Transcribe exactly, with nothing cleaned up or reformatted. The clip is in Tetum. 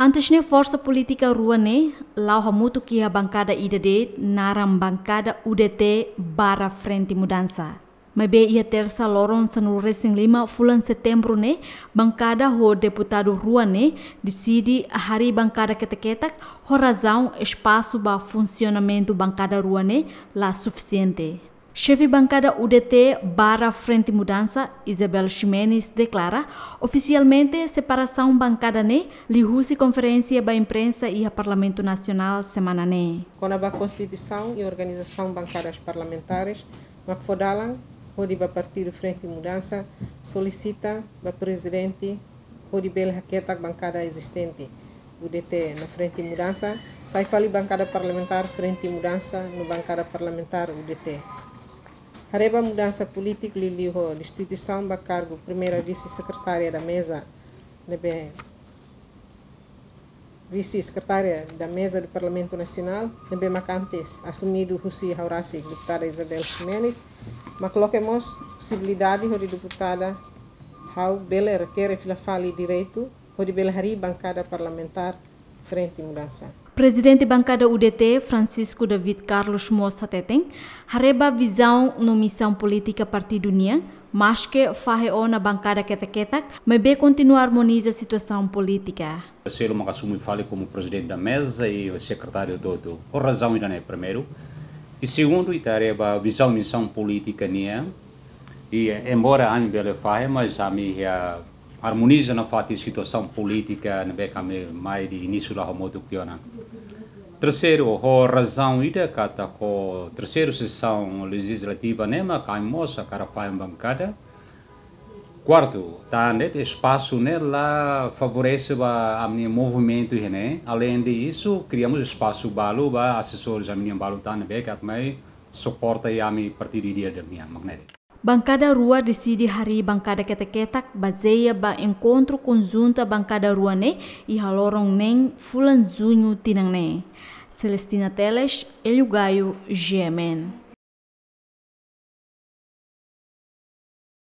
Antes ne'e forsa polítika rua ne'e la'o hamutuk iha bankada ida de'it naran bankada U D T barra Frente Mudansa. Maibé iha tersa loron sanulu resin lima fulan setembru ne'e, bankada ho deputadu rua ne'e deside harii bankada ketak-ketak ho razaun espasu ba funsionamentu bankada rua ne'e la sufisiente. Xefe bankada U D T barra Frente Mudansa, Isabel Ximenes, deklara ofisialmente separasaun bankada ne'e liuhusi konferénsia ba imprensa iha Parlamentu Nasionál semana ne'e. Kona-ba konstituisaun i organizasaun bankadas parlamentares, mak fó dalan hodi ba partidu Frente Mudansa solisita ba prezidente hodi bele haketak bankada ezistente U D T no Frente Mudansa, sai fali bankada parlamentár Frente Mudansa no bankada parlamentár U D T. Haree ba mudansa polítiku liuliu ho destituisaun ba kargu primeira vise-sekretária da meza, ne'ebé vise-sekretária da meza do Parlamentu Nasionál, ne'ebé mak antes asumidu husi ha'u rasik deputada Isabel Ximenes, mak loke mós posibilidade hodi deputada ha'u bele rekere fila fali direitu hodi bele harii bankada parlamentár Frente Mudansa. Prezidente bankada U D T, Francisco David Carlos mós hateten, haree ba vizaun no misaun polítika partidu nian, maske fahe ona bankada ketak-ketak, maibé kontinua armoniza situasaun polítika. Terceiro, mak asume fali komu prezidente da meza i sekretáriu hotu-hotu. Ho razaun ida-ne'e primeiru. I segundu, ita haree ba vizaun misaun polítika nian. I, eh, embora ami bele fahe, mas ami iha armoniza nafatin situasaun polítika ne'ebé ami mai di inísiu la'o hamutuk tiha ona. Terseiru, ho razaun ida katak ho terseira sesaun lejizlativa ne'e mak ami mós hakarak fahe bankada. Kuartu, tanba de'it espasu ne'e la favorese ba ami-nia movimentu iha ne'e. Além disso, kriamos espasu balu ba asesores ami-nian balu tan ne'ebé atu mai suporta ami partidu ida-idak nian, mak ne'e de'it. Bankada rua deside harii bankada ketak-ketak bazeia ba enkontru konjunta bankada rua ne'e iha loron neen fulan Juñu tinan ne'e. Celestina Teles, Hélio Gaio, G M N.